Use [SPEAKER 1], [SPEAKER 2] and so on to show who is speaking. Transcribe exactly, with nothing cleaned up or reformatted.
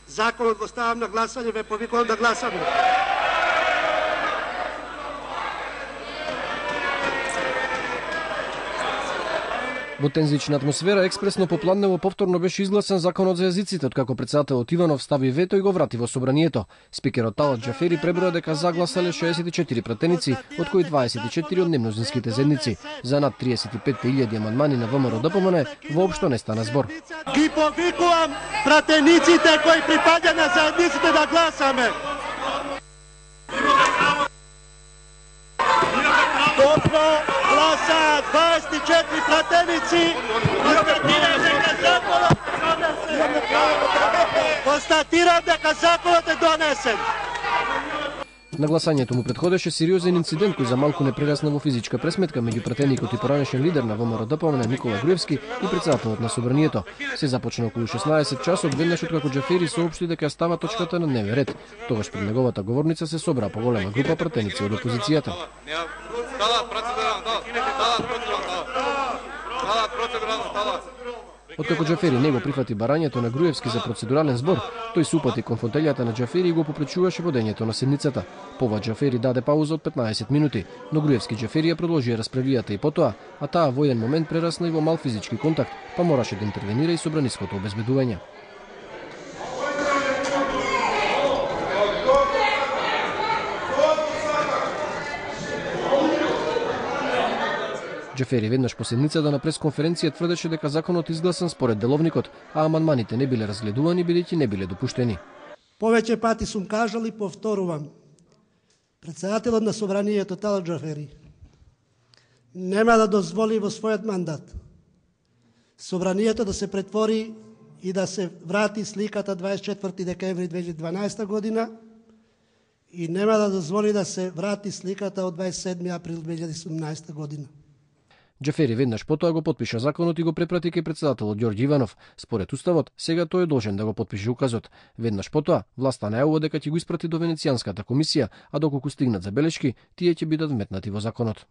[SPEAKER 1] Законот го ставам на гласање, ве повикувам да гласаме.
[SPEAKER 2] Во тензична атмосфера експресно попланево повторно беше изгласен законот за јазиците, откако председателот Иванов стави вето и го врати во собранието. Спикерот Талат Џафери преброја дека загласале шеесет и четири пратеници, од кои дваесет и четири од немнозинските заедници. За над триесет и пет илјади амандмани на ВМРО-ДПМН воопшто не стана збор.
[SPEAKER 1] Ги повикувам пратениците кои припаѓа на заедниците да гласаме. Добро гласа дваесет и четири пратеници. Констатирам дека законот е донесен.
[SPEAKER 2] На гласањето му предходеше сериозен инцидент кој за малку не прерасна во физичка пресметка меѓу пратеникот и поранешен лидер на ВМРО-ДПМН Никола Груевски и председателот на собранието. Се започна околу шеснаесет часот, веднаш откако Џафери соопшти дека става точката на дневен ред. Тогаш пред неговата говорница се собра поголема група пратеници од опозицијата. Откако Џафери не го прифати барањето на Груевски за процедурален збор, тој се упати кон фотелјата на Џафери и го попречуваше водењето на седницата. Пова Џафери даде пауза од петнаесет минути, но Груевски Џафери ја продолжија расправијата и потоа, а таа во еден момент прерасна и во мал физички контакт, па мораше да интервенира и собраниското обезбедување. Џафери веднаш по седницата на пресконференција тврдеше дека законот изгласан според деловникот, а амандманите не биле разгледувани бидејќи не биле допуштени.
[SPEAKER 1] Повеќе пати сум кажал и повторувам. Председателот на собранието Талат Џафери нема да дозволи во својот мандат собранието да се претвори и да се врати сликата дваесет и четврти декември две илјади и дванаесета година и нема да дозволи да се врати сликата од дваесет и седми април две илјади и седумнаесета година.
[SPEAKER 2] Џафери веднаш потоа го потпиша законот и го препрати кај председателот Ѓорѓи Иванов. Според уставот, сега тој е должен да го потпише указот. Веднаш потоа, власта најавува дека ќе го испрати до Венецијанската комисија, а доколку стигнат забелешки, тие ќе бидат вметнати во законот.